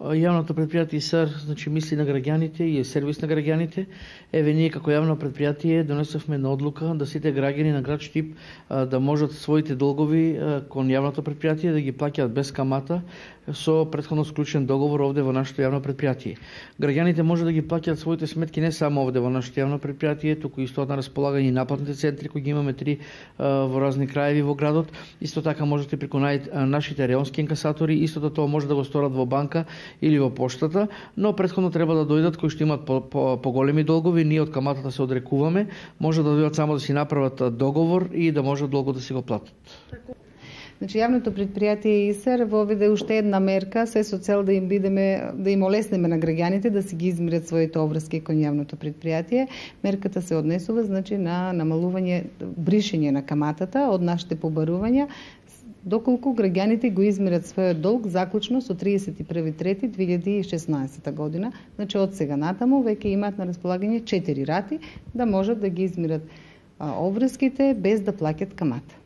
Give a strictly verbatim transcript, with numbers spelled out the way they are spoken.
Јавното предпријатие ИСАР, значи, мисли на граѓаните и е сервис на граѓаните. Еве ние како јавно предпријатие донесовме на одлука да сите граѓани на град Штип да можат своите долгови кон јавното предпријатие да ги плаќаат без камата со претходно склучен договор овде во нашето јавно предпријатие. Граѓаните може да ги плаќаат своите сметки не само овде во нашето јавно предпријатие, туку исто на располагање и напlatните центри кои ги имаме три во разни краеви во градот. Исто така можете преку нашите реонски инкасатори, истото тоа може да го сторат во банка или во поштата, но претходно треба да дојдат кои што имаат поголеми долгови, ние од каматата се одрекуваме, може да дојдат само да си направат договор и да може долго да си го платат. Значи, јавното предпријатие ИСАР воведе уште една мерка, се со цел да им бидеме, да им олеснеме на граѓаните да си ги измират своите обврски кон јавното предпријатие. Мерката се однесува, значи, на намалување, бришење на каматата од нашите побарувања, доколку граѓаните го измират својот долг заклучно со тридесет и први трети две илјади и шеснаесетта година. Значи, од сега натаму веќе имаат на располагање четири рати да можат да ги измират обврските без да плаќат камата.